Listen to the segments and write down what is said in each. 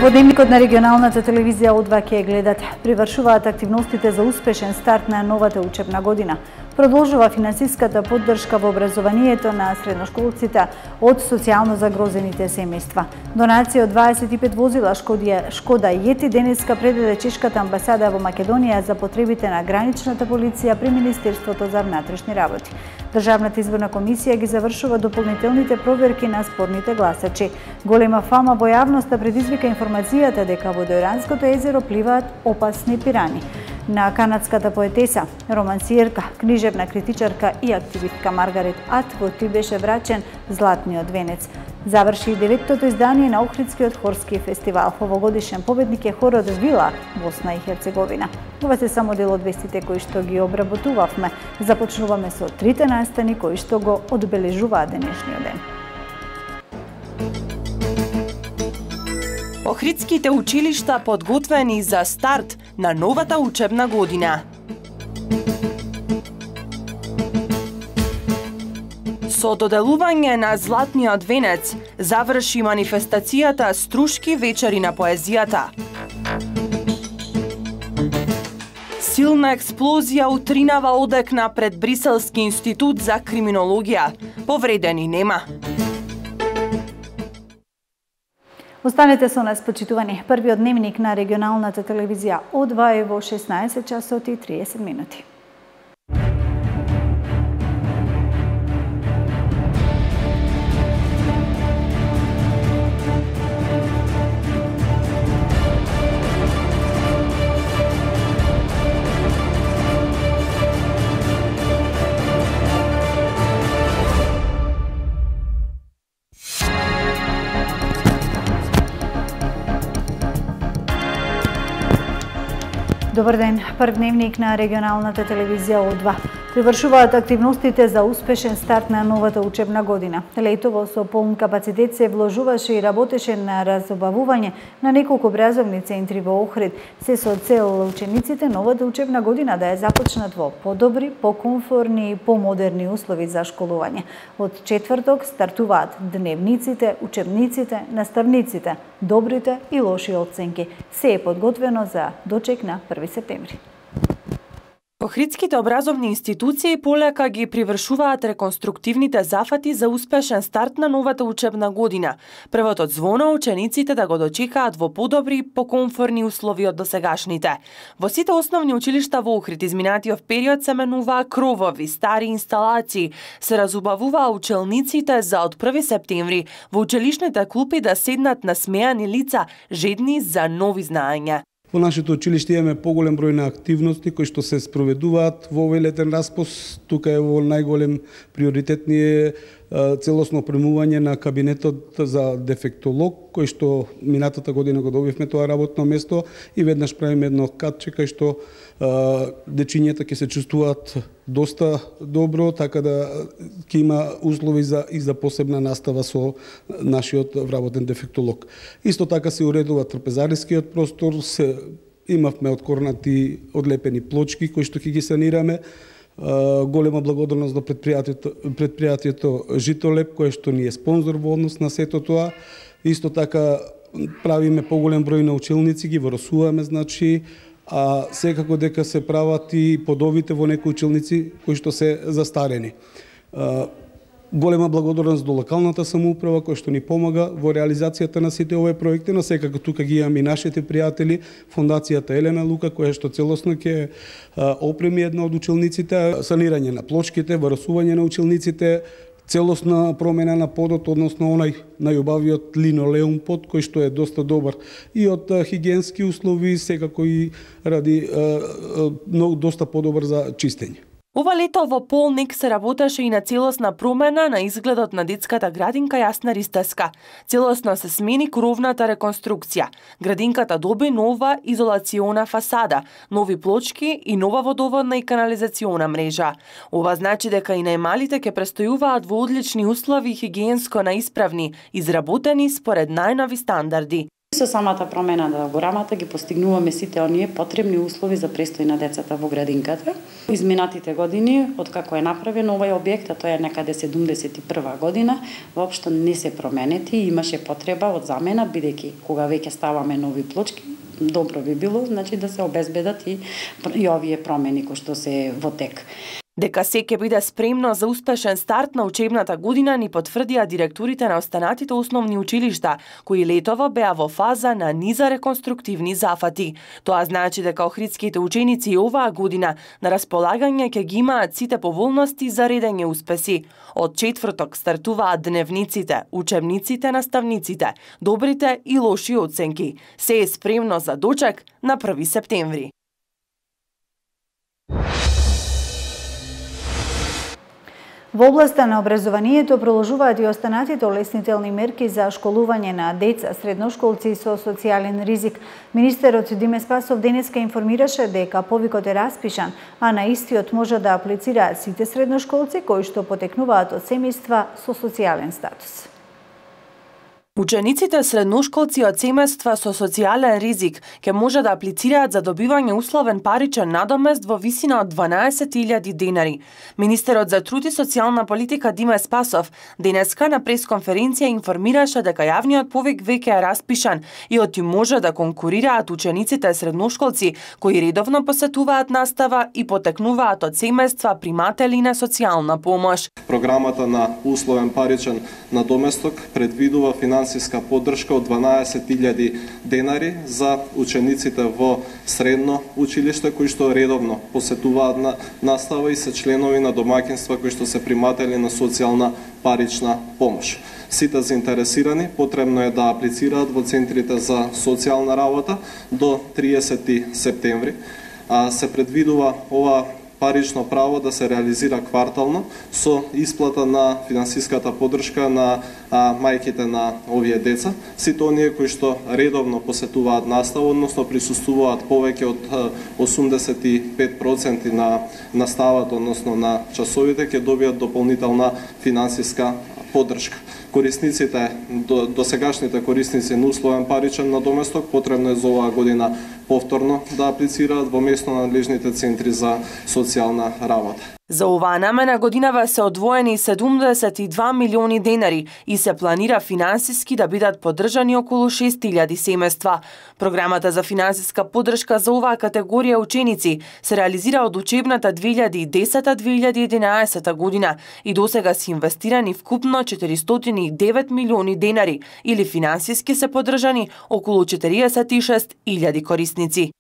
Во дневникот на регионалната телевизија О2 ќе гледат: привршуваат активностите за успешен старт на новата учебна година. Продолжува финансиската поддршка во образованието на средношколците од социјално загрозените семејства. Донација од 25 возила Шкода Јети денеска предаде чешката амбасада во Македонија за потребите на граничната полиција при Министерството за внатрешни работи. Државната изборна комисија ги завршува дополнителните проверки на спорните гласачи. Голема фама во јавноста предизвика информацијата дека во Дојранското езеро пливаат опасни пирани. На канадската поетеса, романсиерка, книжевна критичарка и активистка Маргарет Атвуд беше врачен златниот венец. Заврши и 9-тото издание на Охридскиот хорски фестивал. Овогодишен победник е хорот Вила, Босна и Херцеговина. Ова се само дел од вестите кои што ги обработувавме. Започнуваме со трите настани кои што го одбележуваат денешниот ден. Охридските училишта подготвени за старт на новата учебна година. Со доделување на златниот венец заврши манифестацијата Струшки вечери на поезијата. Силна експлозија утринава одекна пред Бриселски институт за криминологија. Повредени нема. Останете со нас, почитувани. Првиот дневник на регионалната телевизија О2 е во 16 часот и 30 минути. Добар ден, прв дневник на регионалната телевизија О2. Привршуваат активностите за успешен старт на новата учебна година. Летово со полн капацитет се вложуваше и работеше на разобавување на неколку образовни центри во Охрид, се со цел учениците новата учебна година да ја започнат во подобри, покомфорни и помодерни услови за школување. Од четврток стартуваат дневниците, учебниците, наставниците, добрите и лоши оценки. Се е подготвено за дочек на 1 септември. Охридските образовни институции полека ги привршуваат реконструктивните зафати за успешен старт на новата учебна година. Првото звоно учениците да го дочекаат во подобри, покомфорни услови од досегашните. Во сите основни училишта во Охрид изминатиот период се менуваа кровови, стари инсталации, се разубавуваа учениците за од 1 септември во училишните клупи да седнат насмеани лица, жедни за нови знаења. Во нашето училиште имаме поголем број на активности кои што се спроведуваат во овој летен распос. Тука е во најголем приоритет ни е целосно опремување на кабинетот за дефектолог, кој што минатата година го добивме тоа работно место и веднаш правиме едно катче кај што дечињата ќе се чувствуваат доста добро, така да ќе има услови и за посебна настава со нашиот вработен дефектолог. Исто така се уредува трпезарискиот простор, имавме откорнати одлепени плочки кои што ќе ги санираме. Голема благодарност до предпријатието Житолеп, кое што ни е спонзор во однос на сето тоа. Исто така правиме поголем број на училници, ги воросуваме, значи, а секако дека се прават и подовите во некои училници кои што се застарени. Голема благодарност до локалната самоуправа која што ни помага во реализацијата на сите овие проекти, но секако тука ги имаме и нашите пријатели, фондацијата Елена Лука, која што целосно ќе опреми една од училниците, санирање на плочките, воросување на училниците, целосна промена на подот, односно онај најубавиот линолеум под, кој што е доста добар и од хигиенски услови, секако и ради доста подобар за чистење. Ова лето во Полник се работеше и на целосна промена на изгледот на детската градинка Јасна Ристеска. Целосно се смени кровната реконструкција. Градинката доби нова изолациона фасада, нови плочки и нова водоводна и канализациона мрежа. Ова значи дека и најмалите ќе престојуваат во одлични услови хигиенско наисправни, изработени според најнови стандарди. Со самата промена на програмата ги постигнуваме сите оние потребни услови за престој на децата во градинката. Изминатите години, откако е направен овој објект, а тоа е некаде 71 година, воопшто не се променети и имаше потреба од замена, бидејќи кога веќе ставаме нови плочки, добро би било, значи да се обезбедат и овие промени кои што се во тек. Дека се ќе биде спремно за успешен старт на учебната година ни потврдија директорите на останатите основни училишта, кои летово беа во фаза на низа реконструктивни зафати. Тоа значи дека охридските ученици и оваа година на располагање ќе ги имаат сите поволности за редење успеси. Од четврток стартуваат дневниците, учебниците, наставниците, добрите и лоши оценки. Се е спремно за дочек на 1 септември. Во областа на образованието продолжуваат и останатите олеснителни мерки за школување на деца, средношколци со социјален ризик. Министерот Диме Спасов денеска информираше дека повикот е распишан, а на истиот може да аплицираат сите средношколци кои што потекнуваат од семејства со социјален статус. Учениците средношколци од семејства со социјален ризик ќе може да аплицираат за добивање условен паричен надомест во висина од 12.000 денари. Министерот за труд и социјална политика Диме Спасов денеска на пресконференција информираше дека јавниот повик веќе е распишан и оти може да конкурираат учениците средношколци кои редовно посетуваат настава и потекнуваат од семејства приматели на социјална помош. Програмата на условен паричен надоместок предвидува финансиска поддршка од 12.000 денари за учениците во средно училиште кои што редовно посетуваат на настава и се членови на домаќинства кои што се приматели на социјална парична помош. Сите заинтересирани потребно е да аплицираат во центрите за социјална работа до 30 септември. Се предвидува ова парично право да се реализира квартално со исплата на финансиската поддршка на мајките на овие деца. Сите оние кои што редовно посетуваат настава, односно присуствуваат повеќе од 85% на наставата, односно на часовите, ќе добијат дополнителна финансиска поддршка. Корисниците, досегашните корисници на условен паричен надоместок потребно е за оваа година повторно да аплицираат во местно надлежните центри за социјална работа. За оваа намена годинава се одвоени 72 милиони денари и се планира финансиски да бидат поддржани околу 6000 семејства. Програмата за финансиска поддршка за оваа категорија ученици се реализира од учебната 2010-2011 година и досега се инвестирани вкупно 409 милиони денари или финансиски се поддржани околу 46.000 корисници.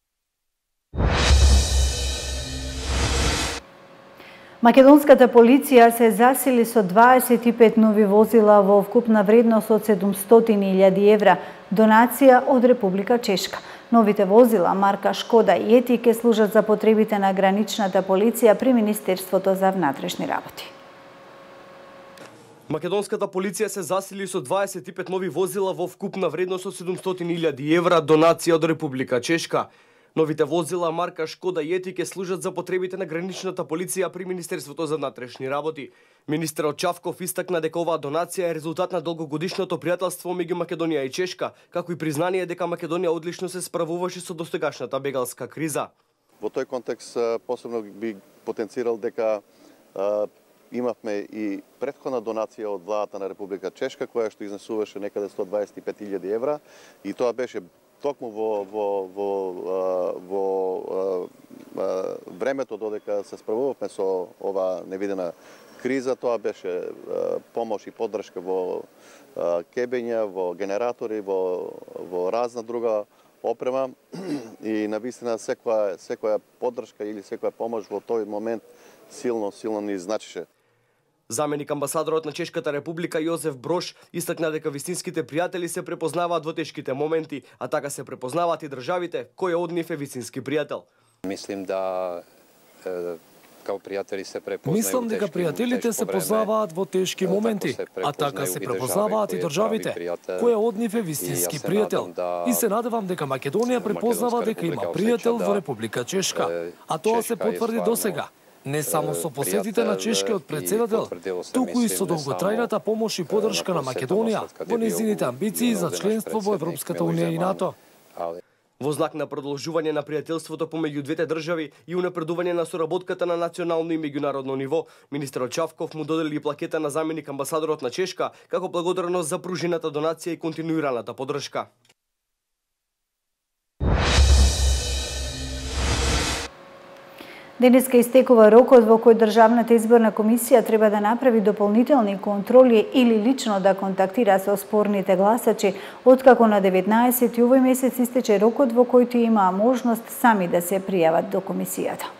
Македонската полиција се засили со 25 нови возила во вкупна вредност од 700.000 евра, донација од Република Чешка. Новите возила марка Шкода и Ети ќе служат за потребите на граничната полиција при Министерството за внатрешни работи. Македонската полиција се засили со 25 нови возила во вкупна вредност од 700.000 евра, донација од Република Чешка. Новите возила марка Шкода и Ети ќе служат за потребите на граничната полиција при Министерството за внатрешни работи. Министерот Чавков истакна дека оваа донација е резултат на долгогодишното пријателство меѓу Македонија и Чешка, како и признание дека Македонија одлично се справуваше со достигашната бегалска криза. Во тој контекст посебно би потенцирал дека имавме и претходна донација од владата на Република Чешка, која што изнесуваше некаде 125.000 евра, и тоа беше токму во времето додека се справувавме со ова невидена криза. Тоа беше помош и поддршка во кебења, во генератори, во разна друга опрема, и навистина секоја поддршка или секоја помош во тој момент силно ни значеше. Заменик амбасадорот на Чешката република Јозеф Брош истакна дека вистинските пријатели се препознаваат во тешките моменти, а така се препознаваат и државите кој од нив е вистински пријател. Мислим да као пријатели се препознаат. Мислам дека пријателите се познаваат во тешки моменти, а така се препознаваат и државите кој од нив е вистински пријател. И се надевам дека Македонија препознава дека има пријател во Република Чешка, а тоа се потврди досега. Не само со посетите на чешкиот председател, туку и со долготрајната помош и поддршка на Македонија во нејзините амбиции за членство во Европската унија и НАТО. Во знак на продолжување на пријателството помеѓу двете држави и унапредување на соработката на национално и меѓународно ниво, министерот Чавков му додели плакета на заменик амбасадорот на Чешка како благодарност за пружената донација и континуираната поддршка. Денеска истекува рокот во кој Државната изборна комисија треба да направи дополнителни контроли или лично да контактира со спорните гласачи, откако на 19 овој месец истече рокот во кој имаа можност сами да се пријават до комисијата.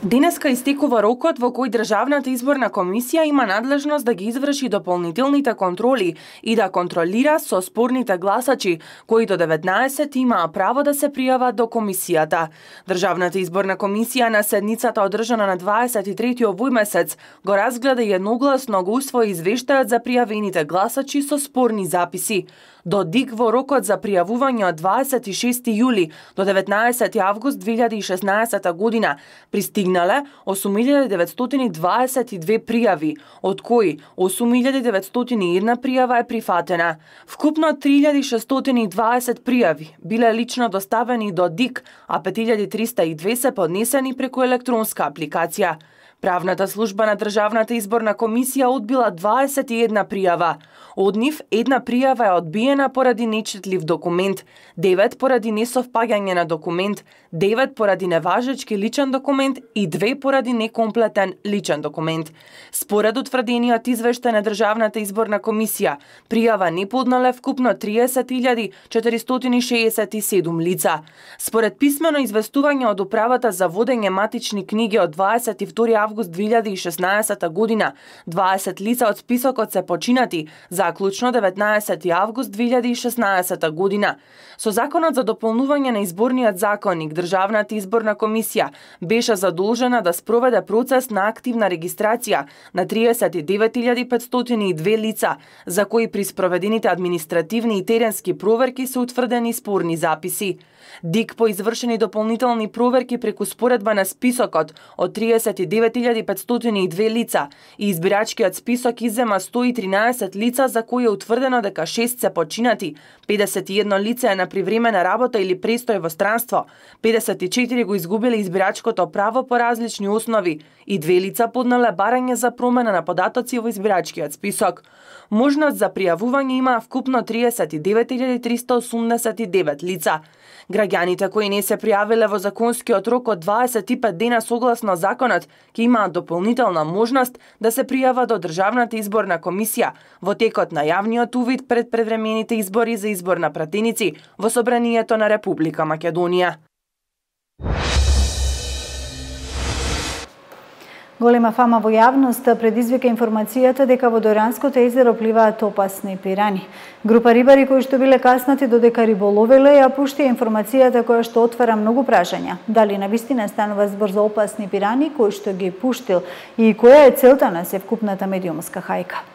Денеска истекува рокот во кој Државната изборна комисија има надлежност да ги изврши дополнителните контроли и да контролира со спорните гласачи, кои до 19 имаа право да се пријават до комисијата. Државната изборна комисија на седницата одржана на 23 овој месец го разгледа и едногласно го усвои извештајот за пријавените гласачи со спорни записи. До ДИК во рокот за пријавување од 26 јули до 19 август 2016 година пристигнале 8922 пријави, од кои 8901 пријава е прифатена. Вкупно 3620 пријави биле лично доставени до ДИК, а 5302 се поднесени преку електронска апликација. Правната служба на Државната изборна комисија одбила 21 пријава. Од нив една пријава е одбиена поради нечитлив документ, 9 поради несовпаѓање на документ, 9 поради неважечки личен документ и 2 поради некомплетен личен документ. Според утврдениот извештај на Државната изборна комисија, пријава не поднале вкупно 30.467 лица. Според писмено известување од Управата за водење матични книги од 22 август 2016 година, 20 лица од списокот се починати, заклучно 19 август 2016 година. Со Законот за дополнување на изборниот законник, Државната изборна комисија беше задолжена да спроведе процес на активна регистрација на 39.502 лица, за кои при спроведените административни и теренски проверки се утврдени спорни записи. ДИК по извршени дополнителни проверки преку споредба на списокот од 39.502 лица и избирачкиот список иззема 113 лица за кои е утврдено дека 6 се починати, 51 лица е на привремена работа или престој во странство, 54 го изгубиле избирачкото право по различни основи и 2 лица поднале барање за промена на податоци во избирачкиот список. Можност за пријавување има вкупно 39.389 лица. Граѓаните кои не се пријавиле во законскиот рок од 25 дена согласно законот, ќе имаат дополнителна можност да се пријават до Државната изборна комисија во текот на јавниот увид пред предвремените избори за избор на пратеници во Собранието на Република Македонија. Голема фама во јавност предизвика информацијата дека во Дојранското езеро пливаат опасни пирани. Група рибари кои што биле каснати додека риболовеле ја пуштија информацијата која што отвара многу прашања. Дали навистина станува збор за опасни пирани кои што ги пуштил и која е целта на севкупната медиумска хајка?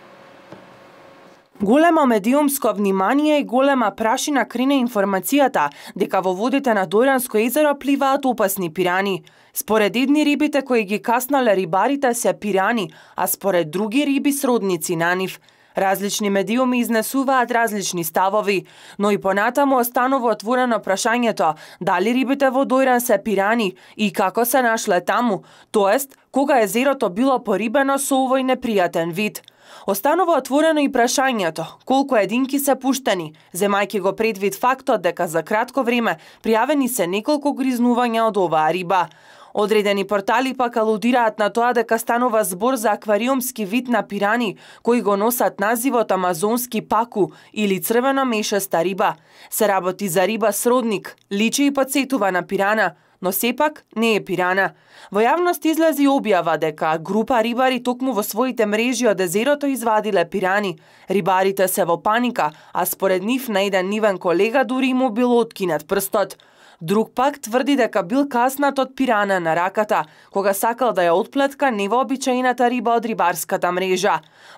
Големо медиумско внимание и голема прашина крине информацијата дека во водите на Дојранско езеро пливаат опасни пирани. Според едни рибите кои ги каснале рибарите се пирани, а според други риби сродници на нив. Различни медиуми изнесуваат различни ставови, но и понатаму останува отворено прашањето дали рибите во Дојран се пирани и како се нашле таму, тоест кога езерото било порибено со овој непријатен вид. Останува отворено и прашањето колку единки се пуштени, земајќи го предвид фактот дека за кратко време пријавени се неколку гризнувања од оваа риба. Одредени портали пак алудираат на тоа дека станува збор за аквариумски вид на пирани, кои го носат називот амазонски паку или црвено мешеста риба. Се работи за риба сродник, личи и подсетува на пирана, но сепак не е пирана. Во јавност излези објава дека група рибари токму во своите мрежи од езерото извадиле пирани. Рибарите се во паника, а според нив на еден нивен колега дури му било откинат прстот. Друг пак тврди дека бил каснат од пирана на раката, кога сакал да ја отплетка невообичаената риба од рибарската мрежа.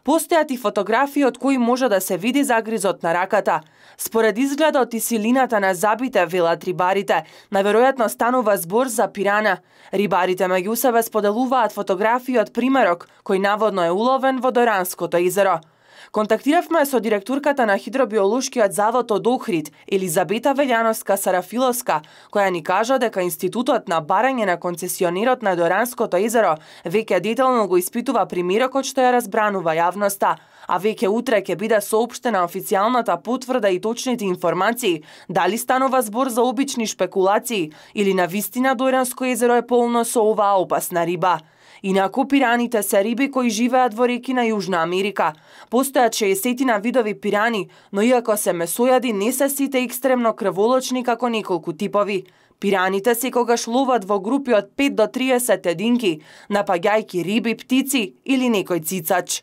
Постојат и фотографии од кои може да се види загризот на раката. Според изгледот и силината на забите, велат рибарите, наверојатно станува збор за пирана. Рибарите меѓу себе споделуваат фотографии од примерок, кој наводно е уловен во Доранското езеро. Контактиравме со директорката на Хидробиолошкиот завод од Охрид, Елизабета Велјановска-Сарафиловска, која ни кажа дека Институтот на барање на концесионерот на Доранското езеро веќе детално го испитува примерокот што ја разбранува јавноста, а веќе утре ќе биде соопштена официјалната потврда и точните информации дали станува збор за обични шпекулации или навистина Доранско езеро е полно со оваа опасна риба. Инаку пираните се риби кои живеат во реки на Јужна Америка. Постојат 60 видови пирани, но иако се месојади, не се сите екстремно крволочни како неколку типови. Пираните секогаш ловат во групи од 5 до 30 единки, напаѓајќи риби, птици или некој цицач.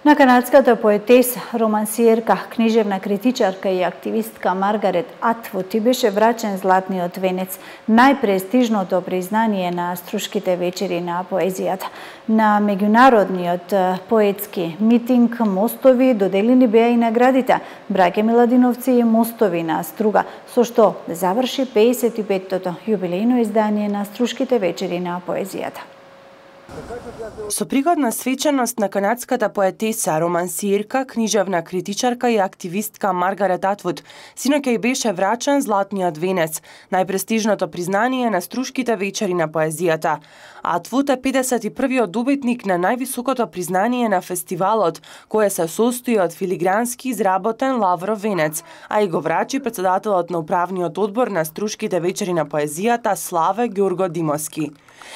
На канадската поетеса, романсиерка, книжевна критичарка и активистка Маргарет Атвуд беше врачен златниот венец, најпрестижното признание на Струшките вечери на поезијата. На меѓународниот поетски митинг Мостови доделени беа и наградите Браќа Миладиновци и Мостови на Струга, со што заврши 55-тото јубилејно издание на Струшките вечери на поезијата. Со пригодна свеченост на канадската поетеса, романсиерка, книжевна критичарка и активистка Маргарет Атвуд, синоќа и беше врачен златниот венец, најпрестижното признание на Струшките вечери на поезијата. Атвуд е 51-виот добитник на највисокото признание на фестивалот, кое се состои од филигрански изработен лавров венец, а и го врачи председателот на управниот одбор на Струшките вечери на поезијата Славе Ѓорго Димовски.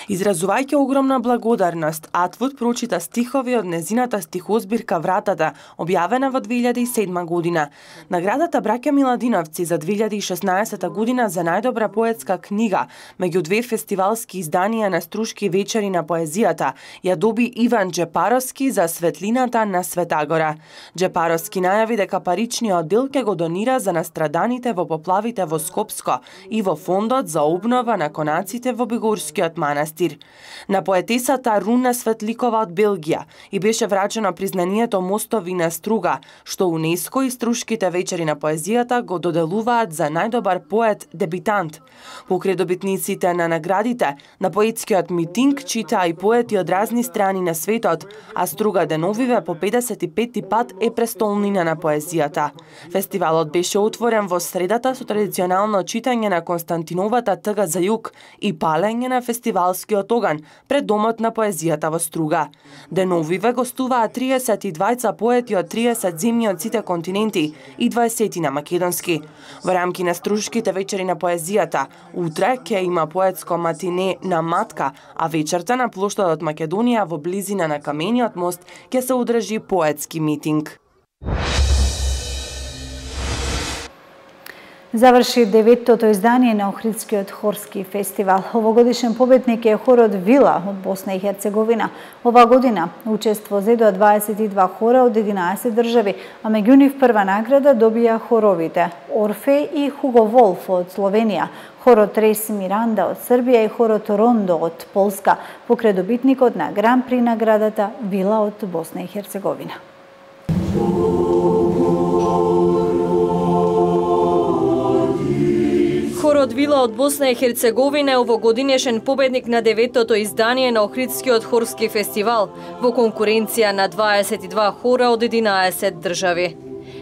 Изразувајќи огромна благодарност, Атвуд прочита стихови од незината стихозбирка Вратата, објавена во 2007 година. Наградата Браќа Миладиновци за 2016 година за најдобра поетска книга меѓу две фестивалски изданија на Струшки вечери на поезијата ја доби Иван Джепаровски за Светлината на Светагора. Джепаровски најави дека паричниот дел ќе го донира за настраданите во поплавите во Скопско и во фондот за обнова на конаците во Бегорскиот манастир. На поетесата Руна Светликова од Белгија и беше врачено признанието Мостови на Струга, што УНЕСКО и Струшките вечери на поезијата го доделуваат за најдобар поет дебитант. Покрај добитниците на наградите, на поетскиот митинг читаа и поети од разни страни на светот, а Струга деновиве по 55 пат е престолнина на поезијата. Фестивалот беше отворен во средата со традиционално читање на Константиновата тъга за југ и палење на фестивалскиот оган пред домот на поезијата во Струга. Деновиве гостуваа 32 поети од 30 земји од сите континенти и 20 на македонски. Во рамки на Струшките вечери на поезијата, утре ќе има поетско матине на Матка, а вечерта на плоштадот Македонија во близина на Камениот мост ќе се одржи поетски митинг. Заврши 9-тото издание на Охридскиот хорски фестивал. Овогодишен победник е хорот Вила од Босна и Херцеговина. Ова година учество зедоа 22 хора од 11 држави, а меѓу нив прва награда добија хоровите Орфеј и Хуго Волф од Словенија, хорот Рейс Миранда од Србија и хорот Рондо од Полска, покрај добитникот на Гран При наградата Вила од Босна и Херцеговина. Хорот Вила од Босна и Херцеговина е овогодинешен победник на 9-тото издание на Охридскиот хорски фестивал во конкуренција на 22 хора од 11 држави.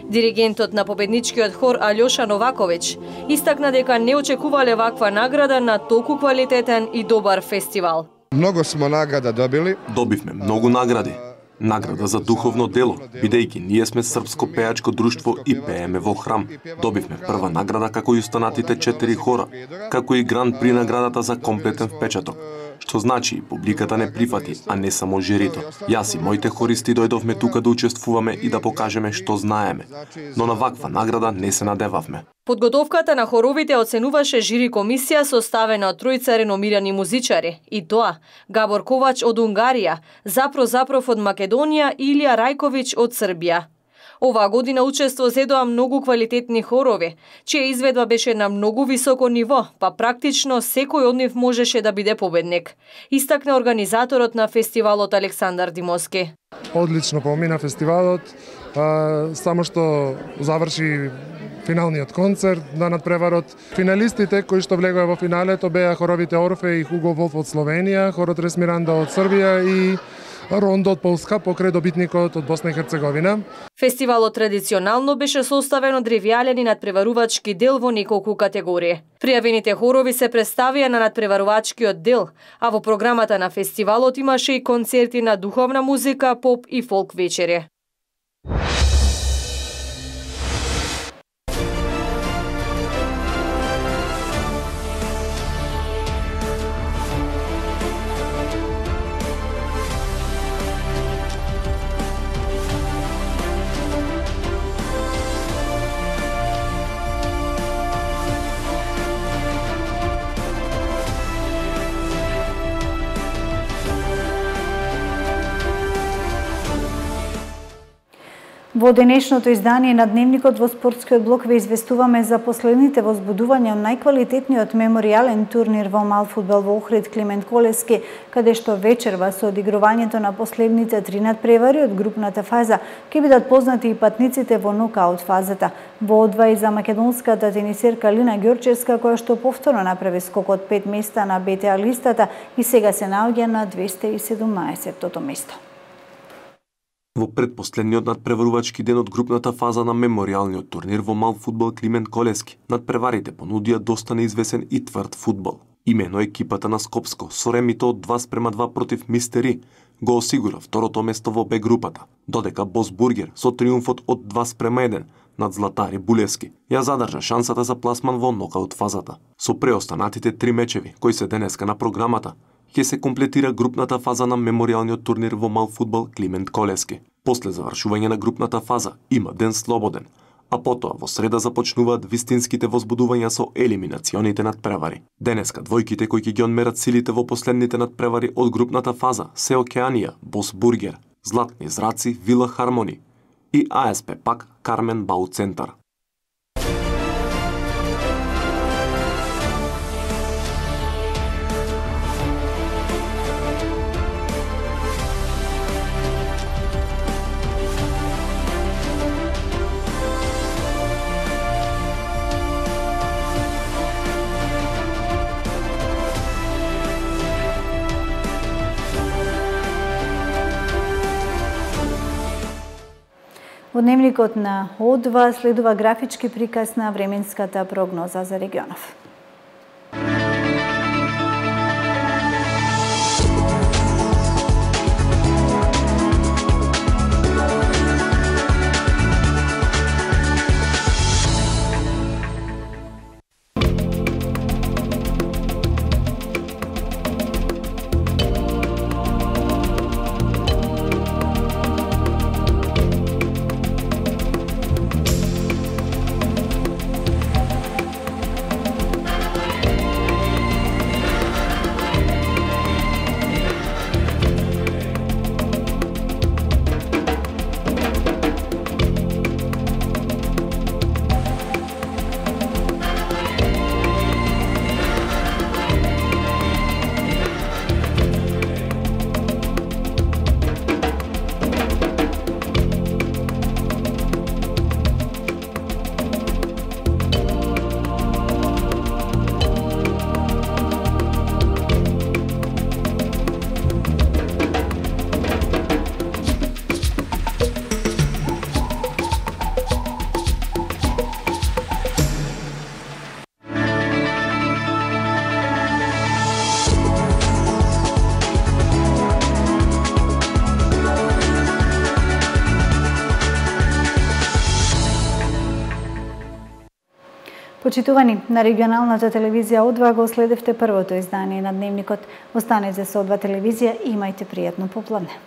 Диригентот на победничкиот хор Алјоша Новаковиќ истакна дека не очекувале ваква награда на толку квалитетен и добар фестивал. Многу смо награда добили. Добивме многу награди. Награда за духовно дело, бидејќи ние сме српско пеачко друштво и пееме во храм. Добивме прва награда како и останатите 4 хора, како и Гран При наградата за комплетен впечаток. Што значи публиката не прифати, а не само жирито. Јас и моите хористи дојдовме тука да учествуваме и да покажеме што знаеме, но на ваква награда не се надевавме. Подготовката на хоровите оценуваше жири комисија составена од тројца реномирани музичари, и тоа Габор Ковач од Унгарија, Запро Запров од Македонија и Илија Рајковиќ од Србија. Оваа година учество зедоа многу квалитетни хорови, чија изведба беше на многу високо ниво, па практично секој од нив можеше да биде победник. Истакна организаторот на фестивалот Александар Димовски. Одлично помина фестивалот, само што заврши финалниот концерт на надпреварот. Финалистите кои што влегоа во финалето беа хоровите Орфе и Хуго Волф од Словенија, хорот Ресмиранда од Србија и Рондо од Полска покрај добитникот од Босна и Херцеговина. Фестивалот традиционално беше составен од ревијален и надпреварувачки дел во неколку категории. Пријавените хорови се представија на надпреварувачкиот дел, а во програмата на фестивалот имаше и концерти на духовна музика, поп и фолк вечери. Во денешното издание на Дневникот во спортскиот блок ве известуваме за последните возбудувања од најквалитетниот меморијален турнир во мал фудбал во Охрид Климент Колески, каде што вечерва со одигрувањето на последните 3 надпревари од групната фаза ќе бидат познати и патниците во нокаут фазата. Во одвај за македонската тенисерка Лина Ѓорчевска, која што повторно направи скок од 5 места на БТА листата и сега се наоѓа на 217-тото место. Во предпоследниот надпреварувачки ден од групната фаза на меморијалниот турнир во мал фудбал Климент Колески, надпреварите понудија доста неизвесен и тврд фудбал. Имено екипата на Скопско со ремито од 2:2 против Мистери го осигура второто место во Б групата, додека Бос Бургер со триумфот од 2:1 над Златари Булевски ја задржа шансата за пласман во нокаут фазата. Со преостанатите 3 мечеви кои се денеска на програмата, ќе се комплетира групната фаза на меморијалниот турнир во мал фудбал Климент Колески. После завршување на групната фаза има ден слободен, а потоа во среда започнуваат вистинските возбудувања со елиминационите надпревари. Денеска двојките кои ќе ги одмерат силите во последните надпревари од групната фаза се Океанија, Бос Бургер, Златни зраци, Вила Хармони и АСП пак Кармен Бау Центар. Во Дневникот на О2 следува графички приказ на временската прогноза за регионов. Почитувани, на регионалната телевизија О2 го следевте првото издание на Дневникот. Останете со О2 телевизија и имајте пријатно попладне.